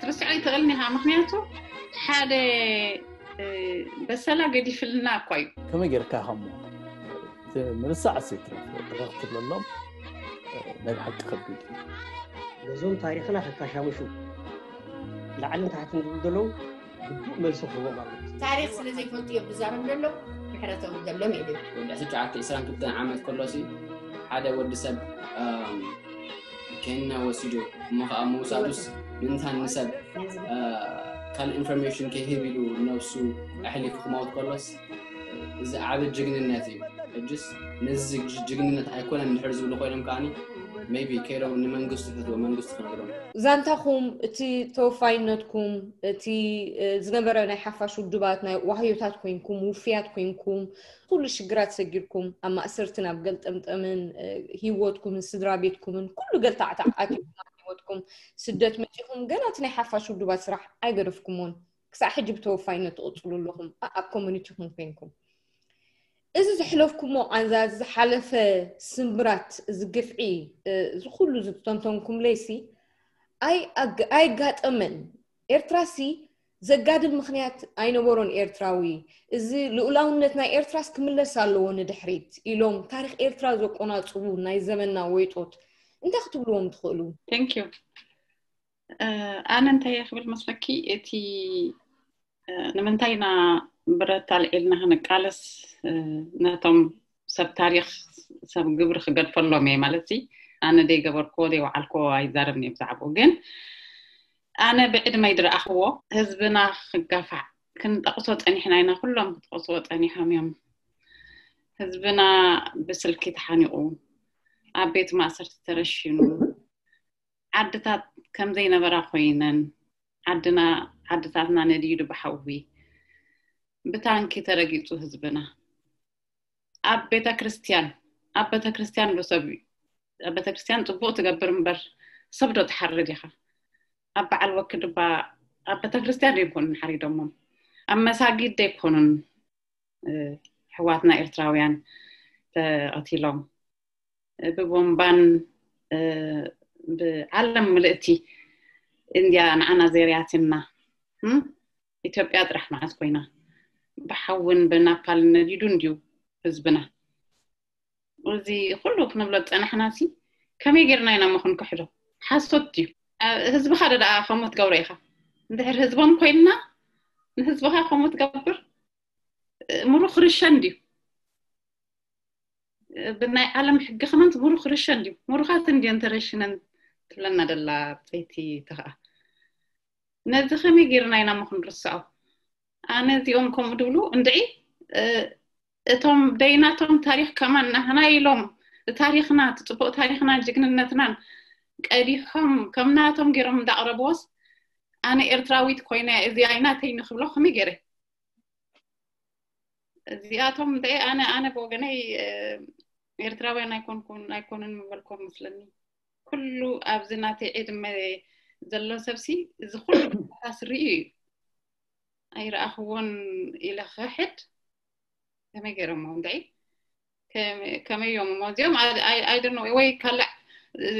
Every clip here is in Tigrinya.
ትርስዖ ይትኽእልን ኢኻ። ምኽንያቱ ሓደ በሰላ ገዲፍልና እኳ እዩ። ከመይ ጌርካ ኢኻ እሞ ምርሳዕ ሴት ረክትለሎም ናይ ሓቂ ከቢድ። ነዞም ታሪኽና ከካሻምሹ ላዕልን ታሕትን ዝብሉ ዘለዉ ግቡእ መልሲ ክህቦም ኣሎ። ታሪኽ ስለ ዘይፈልጡ እዮም ዝዛረቡ ዘለዉ። ምሕረቶም ዘለዎም የድል። ወዲ ዕስራን ክልተን ዓመት ከሎሲ ሓደ ወዲ ሰብ ኬንና ወሲዱ እሞ ከዓ ምውሳዱስ ምንታን ንሰብ ካልእ ኢንፎርሜሽን ከይህብ ኢሉ ነብሱ ኣሕሊፉ ክመውት ከሎስ እዚ ዓቢ ጅግንነት እዩ። ሕጅስ ነዚ ጅግንነት ኣይኮነን እንድሕር ዝብሉ ኮይኖም ከዓኒ maybe ከይዶም ንመንግስቲ ሕትዎ መንግስቲ ክነግሮም። ዛንታኹም፣ እቲ ተወፋይነትኩም፣ እቲ ዝነበረ ናይ ሓፋሽ ውድባት ናይ ዋህዮታት ኮይንኩም፣ ውፍያት ኮይንኩም፣ ኩሉ ሽግራት ሰጊርኩም ኣብ ማእሰርቲ ናብ ገልጠምጠምን ህይወትኩምን ስድራ ቤትኩምን ኩሉ ገልታዕታዕ ኣትኩም ኣብ ህይወትኩም ስደት መጺኹም ገና እቲ ናይ ሓፋሽ ውድባት ስራሕ ኣይገደፍኩሞን። ክሳዕ ሕጂ ብተወፋይነት ትቕጽሉ ኣለኹም ኣብ ኮሚኒቲኹም ኮይንኩም። እዚ ዘሕለፍኩሞ ቃንዛ፣ ዝሓለፈ ስምብራት፣ እዚ ግፍዒ፣ እዚ ኩሉ ዝተንተንኩምለይሲ ኣይ- ኣግ- ኣይጋጠመን። ኤርትራሲ ዘጋድል ምኽንያት ኣይነበሮን ኤርትራዊ። እዚ ልኡላውነት ናይ ኤርትራስ ክምለስ ኣለዎ ንድሕሪት ኢሎም ታሪኽ ኤርትራ ዘቆናጽቡ ናይ ዘመንና ወይጦት እንታይ ክትብልዎም ትኽእሉ? Thank you። ኣነ እንታይ እየ ክብል መስለኪ እቲ ንምንታይ ኢና ብረት ኣልዒልና ክንቃለስ ነቶም ሰብ ታሪኽ ሰብ ግብሪ ክገድፈሎም እየ ማለት ሲ ኣነ ደይገበርክዎ ደይወዓልክዎ ኣይዛረብን እየ ብዛዕባኡ ግን ኣነ ብዕድመይ ድረኣኽዎ ህዝብና ክጋፋዕ ክንጠቕሶ ጸኒሕና ኢና ኩሎም ክትጠቕስዎ ጸኒሖም እዮም ህዝብና ብስልኪ ተሓኒቑ ኣብ ቤት ማእሰርቲ ተረሺኑ ዓድታት ከምዘይነበራ ኮይነን ዓድና ዓድታትና ነዲዱ ብሓዊ ብታንኪ ተረጊጹ ህዝብና ኣብ ቤተክርስትያን ኣብ ቤተክርስትያን ዶ ሰብ ኣብ ቤተክርስትያን ጽቡቕ ትገብር እምበር ሰብ ዶ ትሓርድ ኢኻ ኣብ በዓል ወክድባ ኣብ ቤተክርስትያን ዶ ይኮኑን ሓሪዶሞም ኣብ መሳጊድ ዶ ይኮኑን ኣሕዋትና ኤርትራውያን ተቐቲሎም ብቦምባን ብዓለም ምልእቲ እንድያ ንዓና ዘርያትና ኢትዮጵያ ጥራሕ መዓት ኮይና ብሓውን ብናፓልን ነዲዱ እንድዩ ህዝብና እዚ ኩሉ ክንብሎ ዝፀናሕና ሲ ከመይ ጌርና ኢና ሞ ክንክሕዶ ሓሶት ድዩ ህዝብኻ ዶ ደኣ ከምኡ ትገብሮ ኢኻ እንድሕር ህዝቦም ኮይንና ንህዝብኻ ከምኡ ትገብር ምሩኽ ርሸን ድዩ ብናይ ዓለም ሕጊ ከማን ምሩኽ ርሸን ድዩ ምሩኻት እንድየን ተረሽነን ትብለና ደላ ፀይቲ ተኸኣ ነዚ ከመይ ጌርና ኢና ሞ ክንርስዖ ኣነ እዚኦም ከምኡ ድብሉ እንድዒ እቶም ደይናቶም ታሪኽ ከማን ናህና ኢሎም ታሪኽና ትፅቡቕ ታሪኽናን ጅግንነትናን ቀዲሖም ከም ናቶም ገይሮም እንዳቕረብዎስ ኣነ ኤርትራዊት ኮይነ እዚ ኣይናተይ ንክብሎ ከመይ ገይረ እዚኣቶም እንተ ኣነ ኣነ ብወገነይ ኤርትራውያን ኣይኮንኩን ኣይኮኑን ምበልኮም መስለኒ ኩሉ ኣብዚ ናተይ ዕድመ ዘሎ ሰብሲ እዚ ኩሉ ስሪኡ እዩ ኣይረኣኽዎን ኢለ ክሕድ ከመይ ገይሮሞ እንድዒ ከመይ እዮም እሞ እዚኦም ኣይደኖ ወይ ካልዕ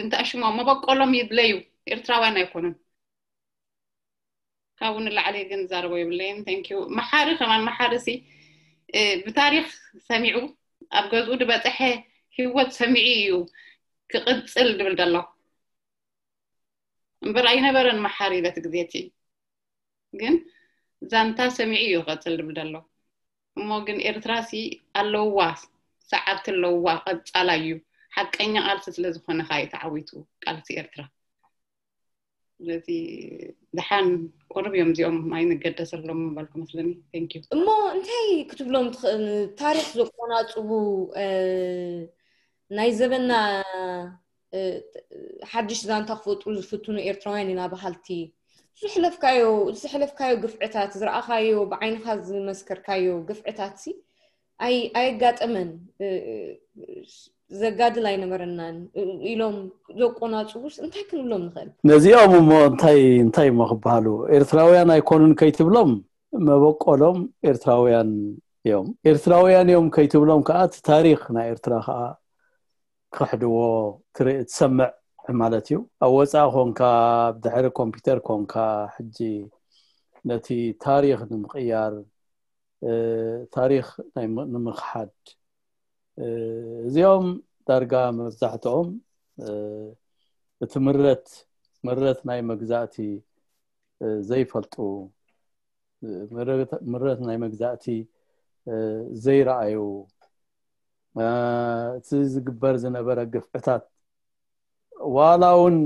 እንተኣሽሞ መበቆሎም ይድለዩ ኤርትራውያን ኣይኮኑን ካብኡ ንላዕሊ ግን ዛረቦ የብለይን thank you መሓሪ ከማን መሓሪ ሲ ብታሪኽ ሰሚዑ ኣብ ገዝኡ ዝበፀሐ ህይወት ሰሚዑ እዩ ክቕፅል ድብል ደሎ እምበር ኣይነበረን መሓሪ በቲ ግዜ እቲ ግን ዛንታ ሰሚዑ እዩ ክቐፅል ድብል ደሎ እሞ ግን ኤርትራ ሲ ኣለውዋ ሰዓብቲ ኣለውዋ ቀፃላ እዩ ሓቀኛ ቃልሲ ስለ ዝኾነ ከዓ እዩ ተዓዊቱ ቃልሲ ኤርትራ ስለዚ ደሓን ቁሩብ እዮም እዚኦም ኣይንገደሰሎም ምባልኩ መስለኒ thank you እሞ እንታይ ክትብሎም ትኽእል ታሪኽ ዘቆናፅቡ ናይ ዘበና ሓድሽ ዛንታ ክፈጥሩ ዝፍትኑ ኤርትራውያን ኢና በሃልቲ ዝሕለፍካዮ ዝሕለፍካዮ ግፍዕታት ዝረኣኻዮ ብዓይንኻ ዝመስከርካዮ ግፍዕታት ሲ ኣይ ኣየጋጠመን ዘጋድል ኣይነበረናን ኢሎም ዘቆናጽቡስ እንታይ ክንብሎም ንኽእል? ነዚኦም እሞ እንታይ እንታይ እሞ ክበሃሉ ኤርትራውያን ኣይኮኑን ከይትብሎም መበቆሎም ኤርትራውያን እዮም። ኤርትራውያን እዮም ከይትብሎም ከኣ እቲ ታሪኽ ናይ ኤርትራ ከኣ ክኽሕድዎ ትርኢ ትሰምዕ። ማለት እዩ። ኣብ ወፃኢ ኮንካ፣ ድሕሪ ኮምፒውተር ኮንካ፣ ሕጂ ነቲ ታሪኽ ንምቕያር፣ ታሪኽ ንምኽሓድ፣ እዚኦም ዳርጋ መብዛሕትኦም እቲ ምረት ምረት ናይ መግዛእቲ ዘይፈልጡ፣ ምረት ናይ መግዛእቲ ዘይረኣዩ፣ እቲ ዝግበር ዝነበረ ግፍዕታት ዋላ እውን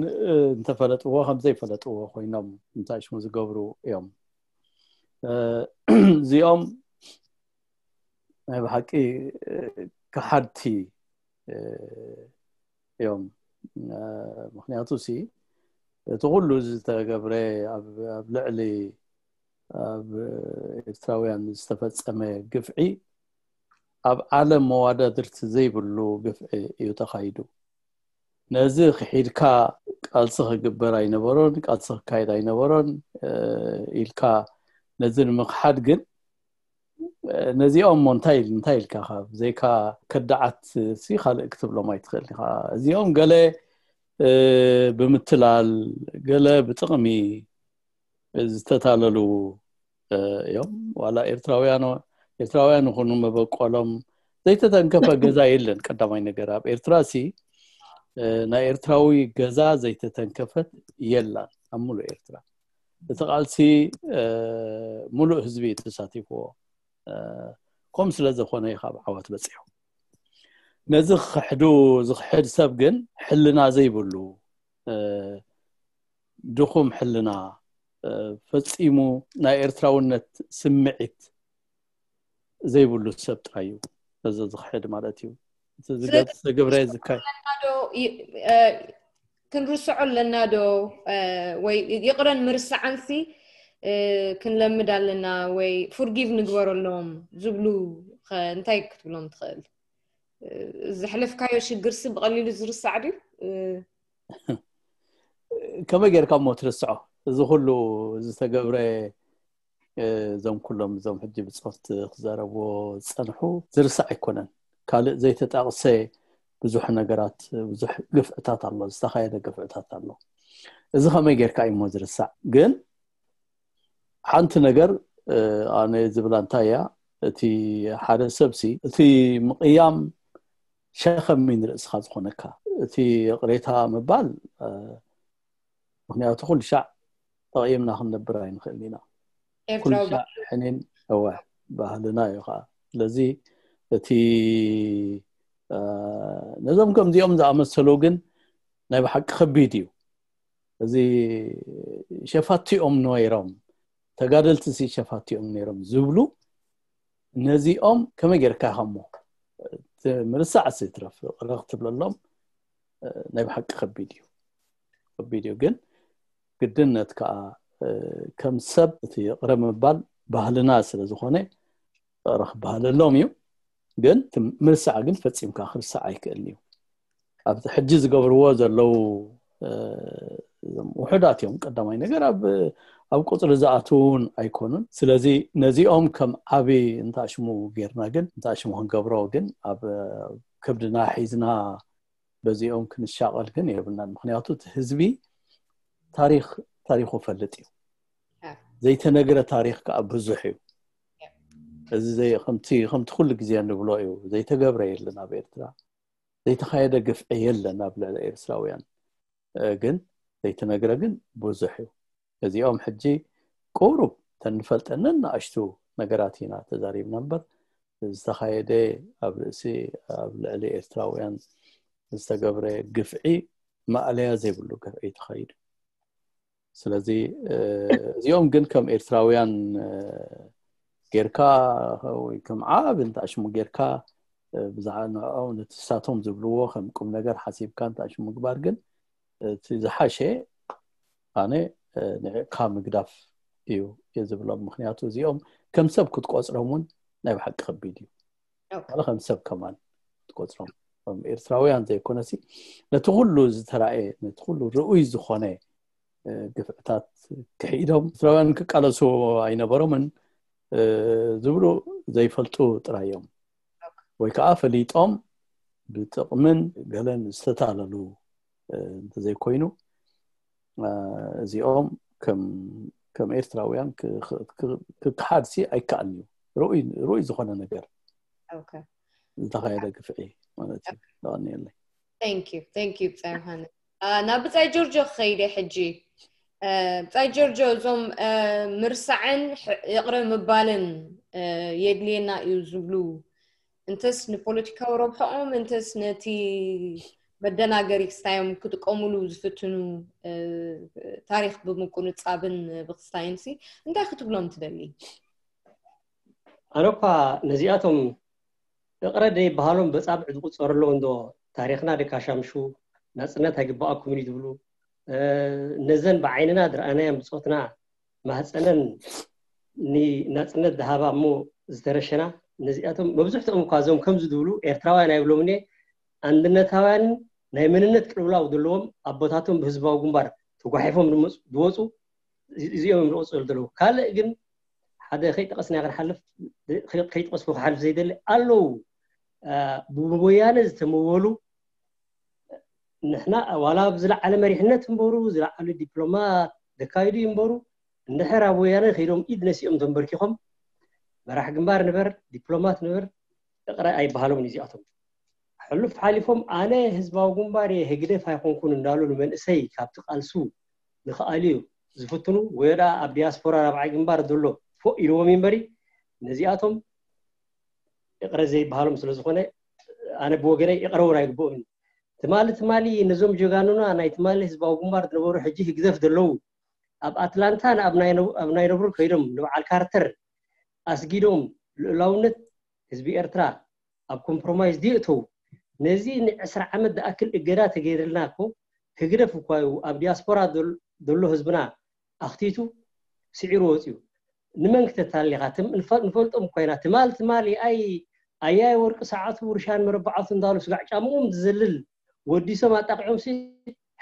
እንተፈለጥዎ ከም ዘይፈለጥዎ ኮይኖም እንታይ ሽሙ ዝገብሩ እዮም። እዚኦም ናይ ብሓቂ ከሓድቲ እዮም። ምክንያቱ ሲ እቲ ኩሉ ዝተገብረ ኣብ ልዕሊ ኣብ ኤርትራውያን ዝተፈጸመ ግፍዒ ኣብ ዓለም መዋዳድርቲ ዘይብሉ ግፍዒ እዩ ተኻይዱ። ነዚ ክሒድካ ቃልሲ ክግበር ኣይነበሮን፣ ቃልሲ ክካየድ ኣይነበሮን ኢልካ ነዚ ንምኽሓድ ግን ነዚኦም ሞ እንታይ እንታይ ኢልካ ካብ ዘይካ ከዳዓት ሲ ካልእ ክትብሎም ኣይትኽእል ኢኻ። እዚኦም ገለ ብምትላል፣ ገለ ብጥቕሚ ዝተታለሉ እዮም። ዋላ ኤርትራውያን ኤርትራውያን ይኹኑ መበቆሎም ዘይተተንከፈ ገዛ የለን። ቀዳማይ ነገር ኣብ ኤርትራ ሲ ናይ ኤርትራዊ ገዛ ዘይተተንከፈት የላን ኣብ ሙሉእ ኤርትራ። እቲ ቃልሲ ሙሉእ ህዝቢ ተሳቲፍዎ ከም ስለ ዝኾነ እዩ ካብ ዓወት በጺሑ። ነዚ ክሕዱ ዝኽሕድ ሰብ ግን ሕልና ዘይብሉ ድኹም ሕልና ፈጺሙ ናይ ኤርትራውነት ስምዒት ዘይብሉ ሰብ ጥራይ እዩ ነዚ ዝኽሕድ ማለት እዩ። እቲ ዝገብረ ዝካይ ክንርስዖ ኣለና ዶ? ወይ ይቕረን ምርሳዓንሲ ክንለምድ ኣለና ወይ ፉርጊቭ ንግበረሎም ዝብሉ እንታይ ክትብሎም ትኽእል? ዘሕለፍካዮ ሽግርሲ ብቐሊሉ ዝርሳዕ ድዩ? ከመይ ጌርካ እሞ ትርስዖ? እዚ ኩሉ ዝተገብረ እዞም ኩሎም እዞም ሕጂ ብጾት ክዛረብዎ ዝጸንሑ ዝርሳዕ ኣይኮነን። ካልእ ዘይተጣቕሰ ብዙሕ ነገራት ብዙሕ ግፍዕታት ኣሎ፣ ዝተኻየደ ግፍዕታት ኣሎ። እዚ ከመይ ጌርካ እዩ እሞ ዝርሳዕ? ግን ሓንቲ ነገር ኣነ ዝብላ እንታይ እያ፣ እቲ ሓደ ሰብሲ እቲ ምቕያም ሸኸም እዩ ንርእስኻ ዝኾነካ። እቲ ይቕሬታ ምባል ምክንያቱ ኩሉ ሻዕ ተቐይምና ክንነብር ኣይንኽእል ኢና። ኩሉ ሻዕ ሕኒን እወ ባህልና እዩ ከዓ። ስለዚ እቲ ነዞም ከምዚኦም ዝኣመሰሉ ግን ናይ ብሓቂ ከቢድ እዩ። እዚ ሸፋቲኦም ነይሮም ተጋደልቲ ሲ ሸፋቲኦም ነይሮም ዝብሉ ነዚኦም ከመይ ጌርካ ኢኻ እሞ ምርሳዕ ሲ ትረፍ ቅረ ክትብለሎም ናይ ብሓቂ ከቢድ እዩ። ከቢድ እዩ ግን ግድነት ከዓ ከም ሰብ እቲ ቅረ ምባል ባህልና ስለ ዝኾነ ቅረ ክበሃለሎም እዩ። ግን ምርሳዕ ግን ፈጺምካ ክርሳዕ ኣይክእልን እዩ። ኣብዚ ሕጂ ዝገብርዎ ዘለዉ ውሑዳት እዮም። ቀዳማይ ነገር ኣብ ኣብ ቁፅሪ ዝኣትውን ኣይኮኑን። ስለዚ ነዚኦም ከም ዓቢ እንታሽሙ ጌርና ግን እንታሽሙ ክንገብሮ ግን ኣብ ከብድና ሒዝና በዚኦም ክንሻቐል ግን የብልናን። ምክንያቱ እቲ ህዝቢ ታሪክ ታሪኩ ፈልጥ እዩ። ዘይተነግረ ታሪክ ከዓ ብዙሕ እዩ። እዚ ከምቲ ከምቲ ኩሉ ግዜ ንብሎ እዩ ዘይተገብረ የለን ኣብ ኤርትራ። ዘይተኻየደ ግፍዒ የለን ኣብ ልዕሊ ኤርትራውያን። ግን ዘይተነግረ ግን ብዙሕ እዩ። እዚኦም ሕጂ ቁሩብ ተንፈልጠንን ንኣሽቱ ነገራት ኢና ተዛሪብና እምበር ዝተኻየደ ኣብ ርእሲ ኣብ ልዕሊ ኤርትራውያን ዝተገብረ ግፍዒ ማእለያ ዘይብሉ ግፍዒ ተኻይዱ። ስለዚ እዚኦም ግን ከም ኤርትራውያን ጌርካ ወይ ከም ዓብ እንታሽሙ ጌርካ ብዛዕባ ንዕኦም ነትሳቶም ዝብልዎ ከም ቁም ነገር ሓሲብካ እንታሽሙ ምግባር ግን እቲ ዝሓሸ ኣነ ንዕካ ምግዳፍ እዩ እየ ዝብሎም። ምክንያቱ እዚኦም ከም ሰብ ክትቆፅሮም እውን ናይ ብሓቂ ከቢድ እዩ። ከም ሰብ ከማን ክትቆፅሮም ኤርትራውያን ዘይኮነሲ ነቲ ኩሉ ዝተራእየ ነቲ ኩሉ ርኡይ ዝኾነ ግፍዕታት ክሒዶም ኤርትራውያን ክቃለሱ ኣይነበሮምን ዝብሉ ዘይፈልጡ ጥራይ እዮም። ወይ ከዓ ፈሊጦም ብጥቕምን ገለን ዝተታለሉ እንተዘይኮይኑ እዚኦም ከም ኤርትራውያን ክክሓድሲ ኣይከኣልን እዩ። ርኡይ ዝኾነ ነገር ዝተኻየደ ግፍዒ ማለት እዩ። ተቐንየለይ። Thank you ብጻይ ዮሃንስ። ናብ ብጻይ ጆርጆ ክኸይደ ሕጂ። ብጻይ ጆርጆ፣ እዞም ምርሳዕን ይቕረ ምባልን የድልየና እዩ ዝብሉ፣ እንተስ ንፖለቲካዊ ረብሐኦም እንተስ ነቲ መደናገሪ ክስታዮም ክጥቀሙሉ ዝፍትኑ ታሪኽ ብምቁንጻብን ብክስታይንሲ እንታይ ክትብሎም ትደሊ? ኣነ እኳ ነዚኣቶም እቕረ ደይበሃሎም በጻብዕ ዝቁጸሩ ኣለዉ እንዶ፣ ታሪኽና ደካሻምሹ፣ ናጽነት ኣይግበኣኩምን እዩ ዝብሉ፣ ነዘን ብዓይንና ዝረኣናየን ብጾትና ማህፀነን ንናፅነት ዝሃባ እሞ ዝተረሸና፣ ነዚኣቶም መብዝሕትኦም እኳ እዞም ከምዚ ዝብሉ ኤርትራውያን ኣይብሎምን እየ። ኣንድነታውያንን ናይ መንነት ቅልውላው ዘለዎም ኣቦታቶም ብህዝባዊ ግንባር ተጓሒፎም ዝወፁ እዚኦም እዮም ዝቐፅሉ ዘለዉ። ካልእ ግን ሓደ ከይጠቐስና ክንሓልፍ ከይጠቐስኩ ክሓልፍ ዘይደሊ ኣለዉ። ብወያነ ዝተመወሉ ንሕና ዋላ ኣብ ዝለዓለ መሪሕነት እምበሩ ዝለዓሉ ዲፕሎማት ዘካይዱ ይንበሩ፣ እንድሕር ኣብ ወያነ ከይዶም ኢድ ነሲኦም ተንበርኪኾም መራሕ ግንባር ንበር ዲፕሎማት ንበር እቕረ ኣይበሃሎም እዚኣቶም። ሕሉፍ ሓሊፎም ኣነ ህዝባዊ ግንባር እየ ህግደፍ ኣይኮንኩን እንዳሉ ንመንእሰይ ካብቲ ቃልሱ ንክኣልዩ ዝፍትኑ ወይ ደኣ ኣብ ዲያስፖራ ራብዓይ ግንባር ዘሎ ፎእ ኢልዎም ይንበሪ ነዚኣቶም እቕረ ዘይበሃሎም ስለዝኾነ ኣነ ብወገነይ እቕረ እውን ኣይግብኦም። ትማሊ ትማሊ ነዞም ጀጋኑና ናይ ትማሊ ህዝባዊ ግንባር ዝነበሩ ሕጂ ህግደፍ ዘለዉ ኣብ ኣትላንታ ኣብ ናይ ነብሩ ከይዶም ንበዓል ካርተር ኣስጊዶም ልኡላውነት ህዝቢ ኤርትራ ኣብ ኮምፕሮማይዝ ድዩ እተው? ነዚ ንዕስራ ዓመት ዝኣክል እገዳ ተገይርልና እኮ ህግደፍ እኳ እዩ ኣብ ዲያስፖራ ዘሎ ህዝብና ኣኽቲቱ ስዒሩ ወፅዩ። ንመን ክተታልል ኢኻ? ንፈልጦም እኮ ኢና። ትማል ትማል ኣይ ኣያይ ወርቂ ሰዓቱ ውርሻን መረባዓቱ እንዳሉ ስጋዕ ጫምኦም ዝዘልል ወዲሶም ኣጣቂዖም ሲ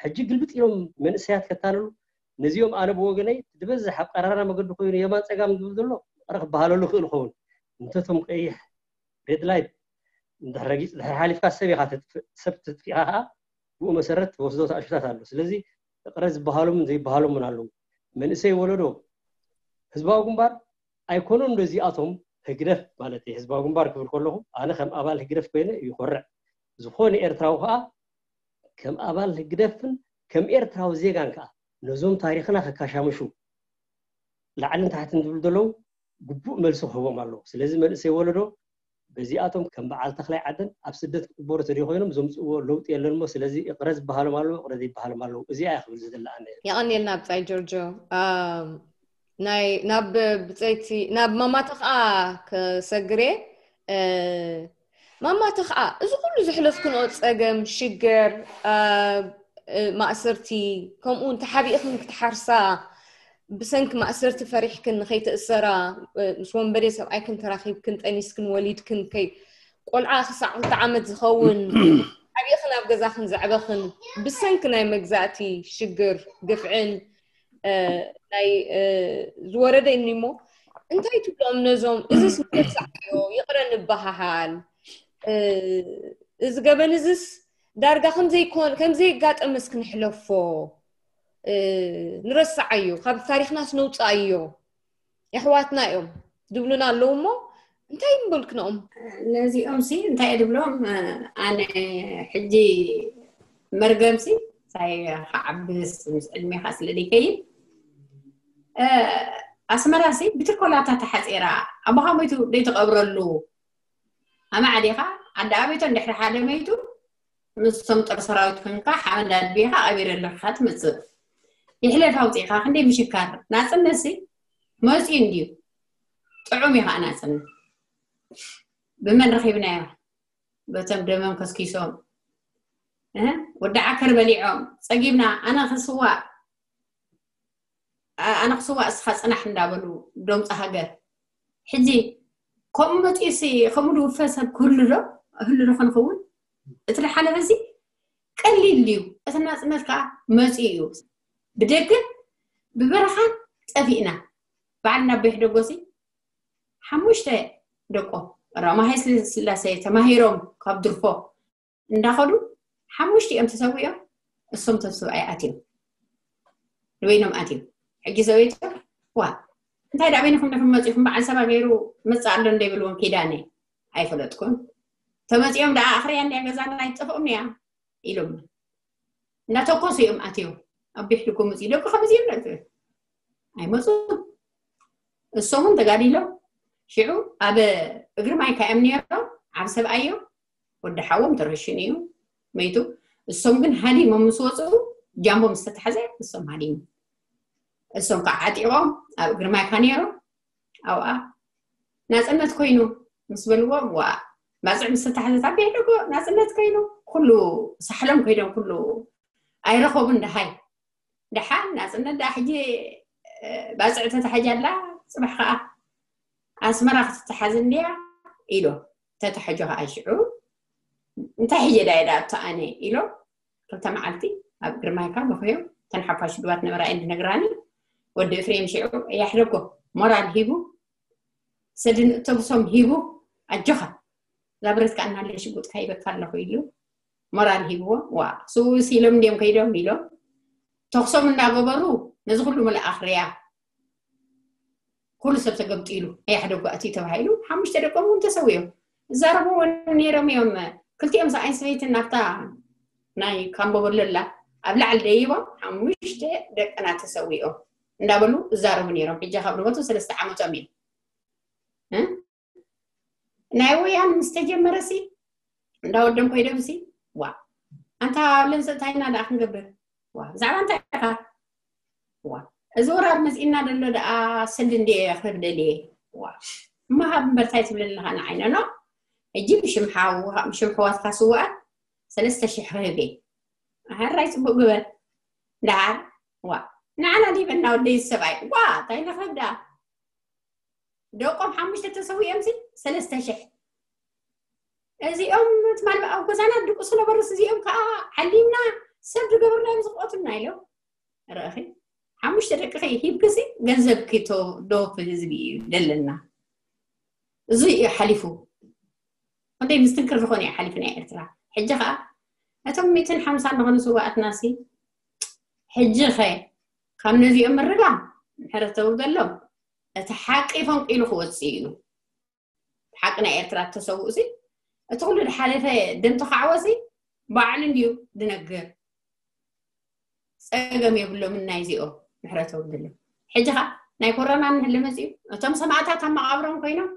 ሕጂ ግልብጥ ኢሎም መንእሰያት ከታልሉ። ነዚኦም ኣነ ብወገነይ ዝበዝሕ ኣብ ቀራራ መገዲ ኮይኑ የማን ፀጋም ዝብል ዘሎ እረ ክበሃለሉ ክእል ኸውን። እንተቶም ቀይሕ ሬድ ላይት እንድሕር ረጊፅ ድሕር ሓሊፍካ ሰብ ኢኻ ሰብ ተጥፊእካ ከዓ ብኡ መሰረት ትወስዶ ተኣሽታት ኣሎ። ስለዚ እቕረ ዝበሃሎምን ዘይበሃሎምን ኣለዉ። መንእሰይ ወለዶ ህዝባዊ ግንባር ኣይኮኑን ዶ እዚኣቶም ህግደፍ ማለት ህዝባዊ ግንባር ክብል ከለኹ ኣነ ከም ኣባል ህግደፍ ኮይነ ይኮርዕ። ዝኾነ ኤርትራዊ ከዓ ከም ኣባል ህግደፍን ከም ኤርትራዊ ዜጋን ከዓ ነዞም ታሪኽና ከካሻምሹ ላዕልን ታሕትን ዝብሉ ዘለዉ ግቡእ መልሲ ክህቦም ኣለዎ። ስለዚ መንእሰይ ወለዶ በዚኣቶም ከም በዓል ተኽላይ ዓደን ኣብ ስደት ክቕበሩ ተደይ ኮይኖም ዘምፅእዎ ለውጢ የለን እሞ ስለዚ እቕረ ዝበሃሎም ኣለዉ እቕረ ዘይበሃሎም ኣለዉ። እዚኣ እያ ክብል ዝደሊ ኣነ። የቐንየልና ብጻይ ጆርጆ። ናይ ናብ ብጸይቲ ናብ ማማተ ከዓ ክሰግር እየ። ማማተ ከዓ እዚ ኩሉ ዘሕለፍክንኦ ፀገም ሽግር ማእሰርቲ ከምኡ እውን ተሓቢእክን ክትሓርሳ ብሰንኪ ማእሰርቲ ፈሪሕክን ንኸይትእሰራ ምስ ወንበዴ ሰብኣይክን ተራኺብክን ጠኒስክን ወሊድክን ከይ ቆልዓ ክሳዕ ክልተ ዓመት ዝኸውን ዓብእኽን ኣብ ገዛኽን ዘዕበኽን ብሰንኪ ናይ መግዛእቲ ሽግር ግፍዕን ናይ ዝወረደ እኒ እሞ እንታይ ትብሎም ነዞም እዚስ ንርሳዓዮ ይቕረ ንበሃሃል እዚ ገበን እዚስ ዳርጋ ከምዘይኮን ከምዘይጋጠመስ ክንሕለፎ ንረስዓዮ ካብ ታሪክናስ ነውፅኣዮ የሕዋትና እዮም ዝብሉና ኣለዉ እሞ እንታይ ምበልክንኦም ነዚኦም ሲ እንታይ ድብሎም ኣነ ሕጂ መርገም ሲ ሳይ ከዓብስ ምስ ዕድሜኻ ስለ ደይከይድ ኣስመራ ሲ ብትርኮላታ ተሓፂራ ኣቦኻ ሞይቱ ደይትቐብረሉ ኣማዕዲኻ ዓዲ ኣቤቶ እንድሕሪ ሓደ መይቱ ምስቶም ጦር ሰራዊት ኮንካ ሓመድ ኣድቢኻ ቀቢረ ኣለካ ትመፅእ ይሕለፍ ኣውፂእካ ክንደይ ምሽካር ናፅነት ሲ መፅዩ እንድዩ ጥዑም እዩ ከዓ ናፅነት ብመን ረኪብናዮ በቶም ደመም ከስኪሶም ወዲ ዓከር በሊዖም ፀጊብና ኣነ ክስዋእ ኣነ ክስዋእ እስኻ ፅናሕ እንዳበሉ ዶምፂ ሃገር ሕጂ ከምኡ መፂኡሲ ከምኡ ዝውፈ ሰብ ክህሉ ዶ ህሉ ዶ ክንኸውን እቲ ዝሓለፈ እዚ ቀሊል ድዩ እቲ ናፅነት ከዓ መፂኡ እዩ ብደገ ብበረኻን ጠፊእና በዓል ናብ ቤሕ ደጎሲ ሓሙሽተ ደቆ ቀዳማይ ስላሴ ተማሂሮም ካብ ድርፎ እንዳኸዱ ሓሙሽቲኦም ተሰዊኦም እሶም ቶም ሰብኣይ ኣትዮም ንበይኖም ኣትዮም ሕጂ ሰበይቶ ዋ እንታይ ዳ በይንኹም ዲኹም መፂኹም በዓል ሰባ ገይሩ መፅእ ኣሎ እንደ ይብልዎም ኪዳነ ኣይፈለጥኩን ተመፂኦም ደኣ ኣኽርያ እንዲያ ገዛና ኣይትጠፍኦም እያ ኢሎም እናተኮሱ እዮም ኣትዮም ኣብ ቤት ልኮ መፅኡ ደቂ ከምዚ እዮም ኣይመፁ እሶምን ተጋዲሎም ሽዑ ኣብ እግሪ ማይካ እዮም ነይሮም ዓብ ሰብኣዮም ወዲ ሓዎም ተረሽኑ እዩ መይቱ እሶም ግን ሃዲሞም ምስ ወፅኡ ጃምቦ ምስ ተታሕዘ እሶም ሃዲሙ እሶም ከዓ ዓጢቖም ኣብ እግሪ ማይካ ነይሮም ኣብኣ ናፅነት ኮይኑ ምስ በልዎም ዋ ባፅዕ ምስ ተታሕዘት ኣብ ቤት ደጎ ናፅነት ኮይኑ ኩሉ ሳሕሎም ኮይዶም ኩሉ ኣይረኸቡን ደሃይ ደሓን ናፅነት ደኣ ሕጂ ባፅዕ ተታሓጃ ኣላ ፅባሕ ከዓ ኣስመራ ክትተሓዝ እንድያ ኢሎ ተታሕጆ ከዓ ሽዑ እንታይ ሕጂ ዳ ዳ ኣቶ ኣነ ኢሎ ክልተ መዓልቲ ኣብ ግርማይካ በኽዮም ተን ሓፋሽ ድባት ነበራ እንዲ ነግራኒ ወዲ እፍሬም ሽዑ ያሕደጎ ሞራል ሂቡ ሰድን እተብሶም ሂቡ ኣጆኻ ዛብረት ከዓ እናለ ሽጉጥካ ይበካ ኣለኹ ኢሉ ሞራል ሂብዎ ዋ ስውስ ኢሎም እንዲዮም ከይዶም ኢሎም ተኽሶም እናገበሩ ነዚ ኩሉ መልኣኽ ርያ ኩሉ ሰብ ተገብጢሉ ኣያሕደጉ ኣትዩ ተባሂሉ ሓሙሽተ ደቆም እውን ተሰዊኦም እዛረብዎ ነይሮም እዮም ክልቲኦም ሰብኣይን ሰበይትን ናብታ ናይ ካምቦበለላ ኣብ ላዕሊ ደይቦም ሓሙሽተ ደቅና ተሰዊኦም እንዳበሉ እዛረቡ ነይሮም ሕጂ ካብ ንበቱ ሰለስተ ዓመቶም እዩ ናይ ወያን ምስ ተጀመረ ሲ እንዳወደም ኮይዶም ሲ ዋ ኣንታ ለንሰ እንታይ ኢና ደኣ ክንገብር ዋ ብዛዕባ እንታይ ኢኻ ዋ እዚ ወራር መፂእና ደሎ ደኣ ስል እንደ ክህብ ደልየ ዋ እማ ሃብ እምበር እንታይ ትብል ኣለኻ ንዓይነ ኖ ሕጂ ብሽም ሓው ብሽም ሕዋትካ ስዋኣት ሰለስተ ሽሕ ክህብ እየ ኣሃራይ ፅቡቅ ግበር ደሓር ዋ ንዓና ዲበና ወደይ ሰብኣይ ዋ እንታይ ንኽህብ ደኣ ደቆም ሓሙሽተ ተሰዊኦም ሲ ሰለስተ ሽሕ እዚኦም ትማል ኣብ ገዛና ድቁሱ ነበሩስ እዚኦም ከዓ ዓሊምና ሰብ ዝገብርናዮም ዝቆቱና ኢሎም ርአኺ ሓሙሽተ ደቅኺ ሂብክሲ ገንዘብኪ ዶ ህዝቢ እዩ ደለና እዚ እዩ ሓሊፉ ክንደይ ምስትንክር ዝኾነ እዩ ሓሊፉ ናይ ኤርትራ ሕጂ ከዓ እቶም ሚትን ሓምሳን ዝኾኑ ስዋኣትና ሲ ሕጂ ኸ ካብ ነዚኦም ምርጋ ምሕረት ተውርደሎም እቲ ሓቂ ፈንቂሉ ክወፅእ እዩ ሓቂ ናይ ኤርትራ እተሰውኡ ሲ እቲ ኩሉ ዝሓለፈ ደም ተኻዕወ ሲ ባዕሉ እንድዩ ዝነግር ፀገም የብሎምን ናይዚኦም ምሕረት ተውርደሎም ሕጂ ኸ ናይ ኮሮና እንህሊ መፅዩ እቶም ሰማእታት ኣብ መቓብሮም ኮይኖም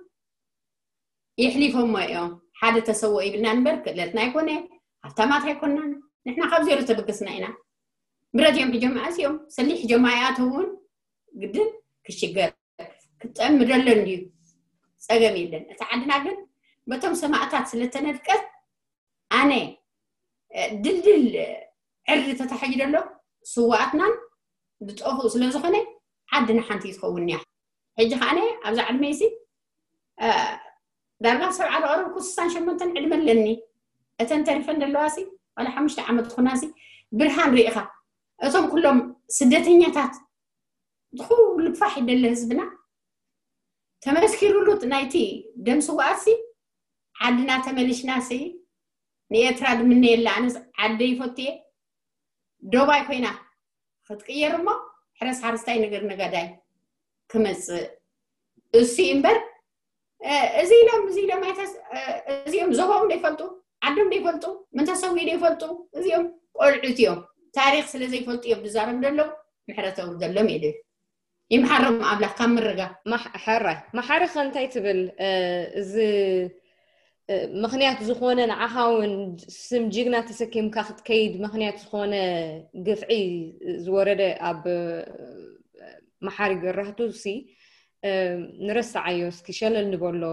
የሕሊፎሞ እዮም ሓደ ተሰዎ ይብልና እምበር ክእለትና ኣይኮነ ሃብታማት ኣይኮናን ንሕና ካብ ዜሮ ተበገስና ኢና ብረት እዮም ሕጆም ኣስዮም ሰሊሕ ሕጆም ኣይኣተውን ግድን ክሽገር ክጠሚ ደሎ እንድዩ ፀገም የለን እቲ ዓድና ግን በቶም ሰማእታት ስለተነድቀት ኣነ ድልድል ዕርዲ ተታሒዙ ደሎ ስዋኣትናን ዝጠፍኡ ስለዝኾነ ዓድና ሓንቲ ትኸውን እያ ሕጂ ከዓነ ኣብዛ ዕድመይሲ ዳርጋ ሰብዓ ዝቐረብኩ ስሳን ሸሞንተን ዕድመ ኣለኒ እተን ተሪፈን ዘለዋ ሲ ዋላ ሓሙሽተ ዓመት ትኹና ሲ ብርሃን ርኢኻ እቶም ኩሎም ስደተኛታት ዝኹሉ ፋሕ ይደለ ህዝብና ተመስኪሩሉ ናይቲ ደም ስውኣት ሲ ዓድና ተመሊሽና ሲ ንኤርትራ ድምነየላ ኣነስ ዓደይ ይፈትየ ዶባይ ኮይና ክትቅየር እሞ ሕረስ ሓረስታይ ነገር ነጋዳይ ክመፅእ እሱ እምበር እዚ ኢሎም እዚ ኢሎም ኣይተስ እዚኦም ዞቦም ዘይፈልጡ ዓዶም ዘይፈልጡ ምንተሰዊ ዘይፈልጡ እዚኦም ቆልዑት እዮም ታሪክ ስለ ዘይፈልጡ እዮም ዝዛረቡ ዘለዉ ምሕረት ኣውርደሎም ኢሉ ይምሓሮም ኣምላኽ ካብ ምርጋ ሕራይ ማሓሪ ከ እንታይ ትብል እዚ ምኽንያት ዝኾነ ንዓኻ እውን ስም ጅግና ተሰኪምካ ክትከይድ ምኽንያት ዝኾነ ግፍዒ ዝወረደ ኣብ መሓሪ ገራህቱ ሲ ንረስዓዮ እስኪ ሸለል ንበሎ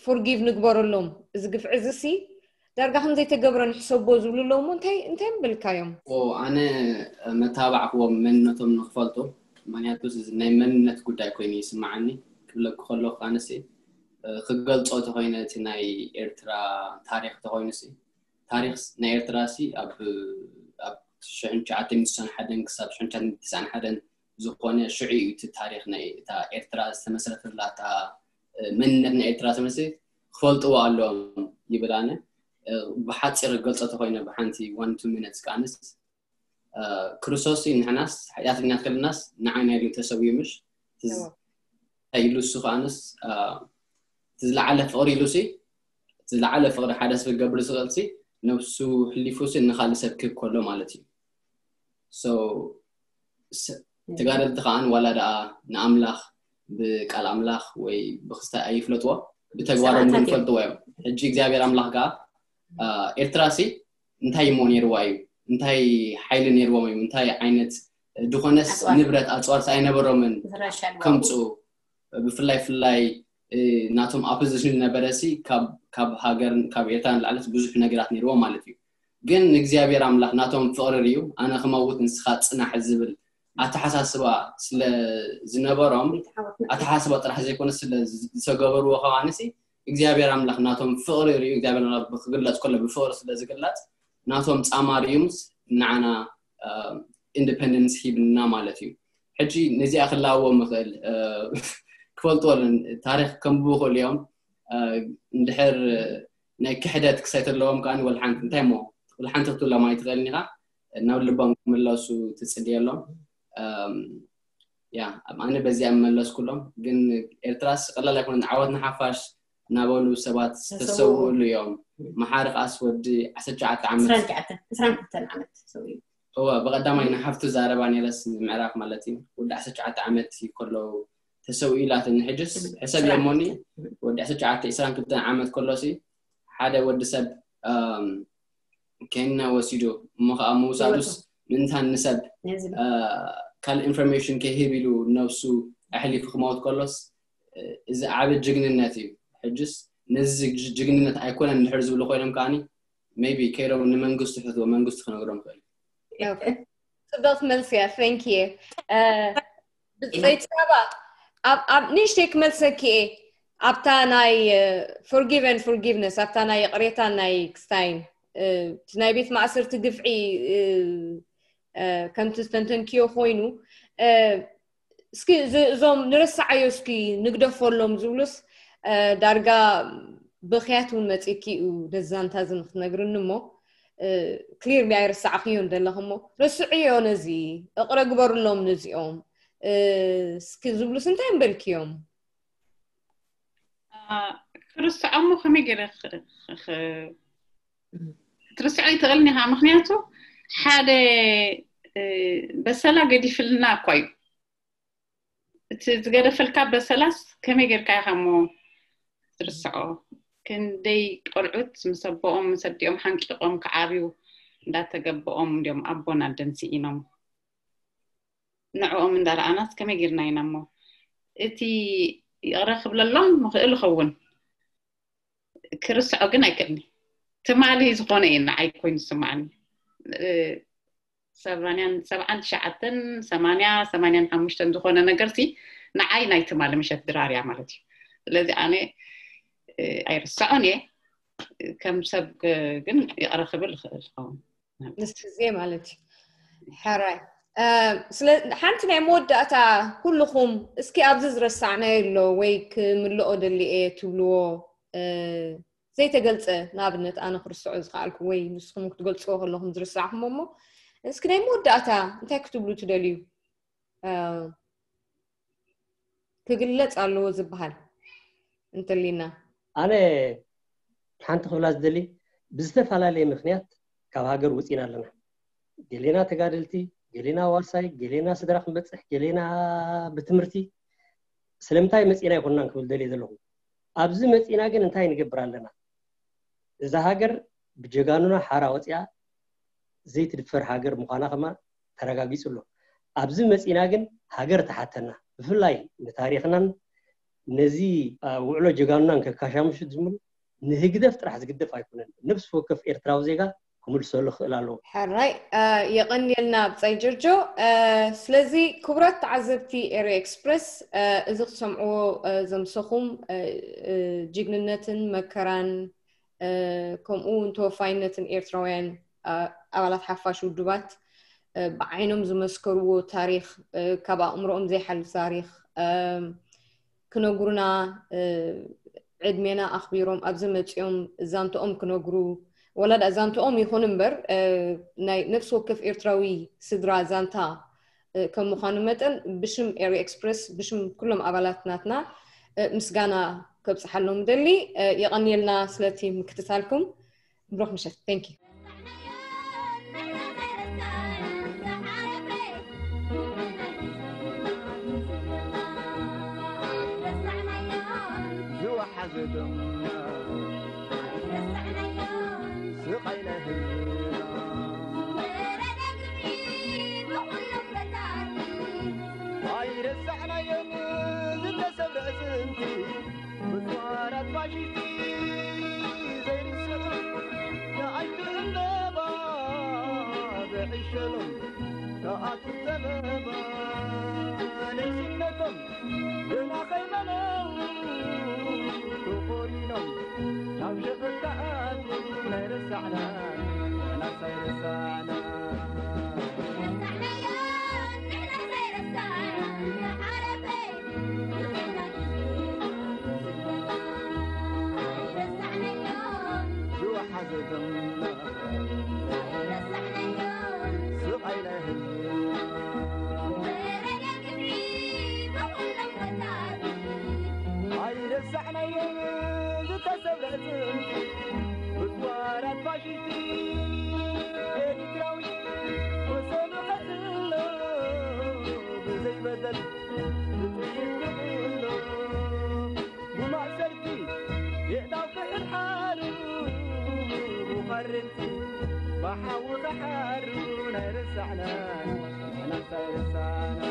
forgive ንግበረሎም እዚ ግፍዒ እዚ ሲ ዳርጋ ከም ዘይተገብረ ንሕሰቦ ዝብሉ ኣለዉ እሞ እንታይ እንታይ ምበልካዮም? ኣነ መተባባዕክዎም መንነቶም ንክፈልጡ ምክንያቱ ናይ መንነት ጉዳይ ኮይኑ ይስምዓኒ ክብለኪ ከለኩ ኣነሲ ክገልፆ ተኮይነ እቲ ናይ ኤርትራ ታሪክ ተኮይኑ ሲ ታሪክ ናይ ኤርትራ ሲ ኣብ ኣብ ሽሕን ትሽዓተ ሚእትን ሓደን ክሳብ ሽሕን ትሽዓተ ሚእትን ትስዓን ሓደን ዝኾነ ሽዑ እዩ እቲ ታሪክ ናይ እታ ኤርትራ ዝተመስረተላ እታ መንነት ናይ ኤርትራ ተመስሪት ክፈልጥዎ ኣለዎም ይብል ኣነ ብሓፂር ገልፀ ተኮይነ ብሓንቲ one two minutes ከዓንስ ክርስቶስ ንሕናስ ሓጢኣተኛት ከለናስ ንዓና ኢሉ ተሰዊኡ ምሽ ኢሉሱ ከዓንስ እቲ ዝለዓለ ፍቅሪ ኢሉሲ እቲ ዝለዓለ ፍቅሪ ሓደ ሰብ ክገብር ዝኽእልሲ ነብሱ ሕሊፉሲ ንካልእ ሰብ ክህብ ከሎ ማለት እዩ። So ተጋደልቲ ከዓን ዋላ ደኣ ንኣምላኽ ብቃል ኣምላኽ ወይ ብክስታይ ኣይፍለጥዎ ብተግባሮም ግን ይፈልጥዎ እዮም። ሕጂ እግዚኣብሔር ኣምላኽ ከዓ ኤርትራ ሲ እንታይ እሞ ነይርዋ እዩ? እንታይ ሓይሊ ነይርዎም እዮም? እንታይ ዓይነት ድኾነስ ንብረት ኣፅዋር ኣይነበሮምን ከምፅኡ ብፍላይ ፍላይ ናቶም ኣፖዚሽን ዝነበረ ሲ ካብ ሃገር ካብ ኤርትራ ንላዕለስ ብዙሕ ነገራት ነይርዎም ማለት እዩ። ግን እግዚኣብሔር ኣምላኽ ናቶም ፍቕሪ ርዩ ኣነ ክመውት ንስኻ ጽናሕ ዝብል ኣተሓሳስባ ስለ ዝነበሮም ኣተሓሳስባ ጥራሕ ዘይኮነ ስለ ዝተገበርዎ ከማንሲ እግዚኣብሔር ኣምላኽ ናቶም ፍቕሪ ርዩ እግዚኣብሔር ኣምላኽ ብክግለጽ ከሎ ብፍቕሪ ስለ ዝግለጽ ናቶም ጻማ ርዩምስ ንዓና ኢንዲፐንደንስ ሂብና ማለት እዩ። ሕጂ ነዚኣ ክላዎ ምኽእል ክፈልጥዎ ታሪክ ከንብቡ ክእሉ እዮም። እንድሕር ናይ ክሕደት ክሳይ ተለዎም ከዓ ወልሓንቲ እንታይ ሞ ወልሓንቲ ክትብሎም ኣይትኽእልን ኢኻ። ናብ ልቦም ክምለሱ ትፅልየሎም። ያ ኣነ በዚኣ መለስኩሎም። ግን ኤርትራስ ቀላል ኣይኮነን። ዓወት ንሓፋሽ እናበሉ ሰባት ዝተሰውእሉ እዮም። መሓሪ ከዓስ ወዲ ዓሰርተ ትሽዓተ ዓመት ዓመት እወ ብቐዳማይ ንሓፍቱ ዛረባ ነይረስ ንምዕራፍ ማለት እዩ። ወዲ ዓሰርተ ትሽዓተ ዓመት ከለዉ ተሰዊኡ ኢላትኒ። ሕጅስ ሕሰብ የሞኒ ወዲ ዓሰርተ ትሽዓተ ዕስራን ክልተን ዓመት ከሎሲ ሓደ ወዲ ሰብ ኬንያ ወሲዱ እሞ ከዓ ምውሳዱስ ምንታን ንሰብ ካልእ ኢንፎርሜሽን ከይህብ ኢሉ ነብሱ ኣሕሊፉ ክመውት ከሎስ እዚ ዓቢ ጅግንነት እዩ። ሕጅስ ነዚ ጅግንነት ኣይኮነን እንድሕር ዝብሉ ኮይኖም ከዓኒ maybe ከይዶም ንመንግስቱ ሕትዎ መንግስቱ ክነግሮም ይኽእል። ጽብቕቲ መልሲ እያ። Thank you። ብጸይቲ ሳባ ኣብ ንእሽተይ ክመልሰኪ እየ ኣብታ ናይ forgive and forgiveness ኣብታ ናይ ይቕሬታ ናይ ክስታይን እቲ ናይ ቤት ማእሰርቲ ግፍዒ ከምቲ ዝተንተንክዮ ኮይኑ እስኪ እዞም ንረስዓዮ እስኪ ንግደፈሎም ዝብሉስ ዳርጋ ብኽያት እውን መፂኪ እዩ ነዛንታ እዚ ንክትነግርኒ እሞ ክሊር ቢ ኣይረሳዕክዮን ዘለኽ እሞ ረስዕዮ ነዚ እቕረ ግበርሎም ነዚኦም እስኪ ዝብሉስ እንታይ እምበልክዮም ክርስዖሞ ከመይ ገይረ ትርስዖ ይትኽእልኒ ኢኻ ምክንያቱ ሓደ በሰላ ገዲፍልና እኳ እዩ እቲ ዝገደፈልካ በሰላስ ከመይ ጌርካ ኢኻ እሞ ትርስዖ ክንደይ ቆልዑት ምስ ኣቦኦም ምስ ኣዲኦም ሓንቂቖም ክዓብዩ እንዳተገበኦም እንዲኦም ኣቦን ኣደን ስኢኖም ንዕኦም እንዳረኣናስ ከመይ ጌርና ኢና እሞ እቲ ይቕረ ክብለሎም ምኽእል ይኸውን ክርስዖ ግን ኣይክእልኒ ትማሊ ዝኾነ እዩ ንዓይ ኮይኑ ዝስማዓኒ ሰማንያን ሰብዓን ትሽዓተን ሰማንያ ሰማንያን ሓሙሽተን ዝኾነ ነገር ሲ ንዓይ ናይ ትማሊ ምሸት ድራር እያ ማለት እዩ ስለዚ ኣነ ኣይርስዖን እየ ከም ሰብ ግን ይቕረ ክብል ይኽእል ይኸውን ምስ ግዜ ማለት እዩ ሕራይ ሓንቲ ናይ መወዳእታ ኩልኹም እስኪ ኣብዚ ዝረሳዕናዮ ኣሎ ወይ ክምልኦ ደሊ እየ ትብልዎ ዘይተገልፀ ንኣብነት ኣነ ክርስዖ ዝከኣልኩ ወይ ንስኹም ክትገልፅዎ ከለኹም ዝረሳዕኹም እሞ እስኪ ናይ መወዳእታ እንታይ ክትብሉ ትደልዩ ክግለፅ ኣለዎ ዝበሃል እንተሊና ኣነ ሓንቲ ክብላ ዝደሊ ብዝተፈላለየ ምክንያት ካብ ሃገር ውፅኢና ኣለና ገሌና ተጋደልቲ ገሌና ዋርሳይ ገሌና ስድራ ክንበፅሕ ገሌና ብትምህርቲ ስለምንታይ መፂና ኣይኮንናን ክብል ደልየ ዘለኹ ኣብዚ መፂና ግን እንታይ ንገብር ኣለና እዛ ሃገር ብጀጋኑና ሓራ ወፂኣ ዘይትድፈር ሃገር ምዃና ከማ ተረጋጊፁ ኣሎ ኣብዚ መፂና ግን ሃገር ተሓተና ብፍላይ ንታሪክናን ነዚ ውዕሎ ጀጋኑናን ከካሻምሹ ዝምሉ ንህግደፍ ጥራሕ ዝግደፍ ኣይኮነን ነብሲ ወከፍ ኤርትራዊ ዜጋ ክምልሰሉ ክእል ኣለዎ ሕራይ የቐንየልና ብጻይ ጀርጆ ስለዚ ክቡራት ተዓዘብቲ ኤሪ ኤክስፕረስ እዚ ክትሰምዕዎ ዘምሰኹም ጅግንነትን መከራን ከምኡ እውን ተወፋይነትን ኤርትራውያን ኣባላት ሓፋሽ ውድባት ብዓይኖም ዝመስከርዎ ታሪክ ካብ ኣእምሮኦም ዘይሓልፍ ታሪክ ክነግሩና ዕድሜና ኣኽቢሮም ኣብዚ መፂኦም ዛንትኦም ክነግሩ ወላ ደኣ ዛንትኦም ይኹን እምበር፣ እ፣ ናይ ነፍሲ ወከፍ ኤርትራዊ ስድራ ዛንታ፣ እ፣ ከም ምዃኑ መጠን፣ ብሽም ኤሪ ኤክስፕረስ፣ ብሽም ኩሎም ኣባላት ናትና፣ እ፣ ምስጋና ከብጽሓሎም ደሊ። እ፣ የቐንየልና ስለቲ ምክትታልኩም። ብሩኽ ምሸት። Thank you። ዝወሓዘ ደም ስቓይ ናይ ህዝብና ኣይረሳዕናዮን ዝተሰብረ ኣዕጽምቲ። ብጽዋራት ፋሽስቲ ዘይርስዑ ንኣሽቱ ዕምበባ ብዕሸሎም ተኣትዩ ጸበባ። ንእስነቶም ግና ከይበለው ተቖሪኖም ናብ ሸፈት ተኣትዩ። ናይ ረሳዕና ንሕናስ ኣይረሳዕና። ዝወሓዘ ደምና ስቓይ ናይ ህዝቢ ኣይረሳዕናዮን ዝተሰብረ ኣዕጽምቲ። ብጽዋራት ፋሽስቲ ኤርትራዊ ወሰኑ ከእሎ ብዘይበደል ብጥይት ክእሎ ብማእሰርቲ የእዳው ክሕድሓሩ ብዃርንቲ ብሓዊ ክሓሩ ናይ ረሳዕና ንሕናስ ኣይረሳዕና።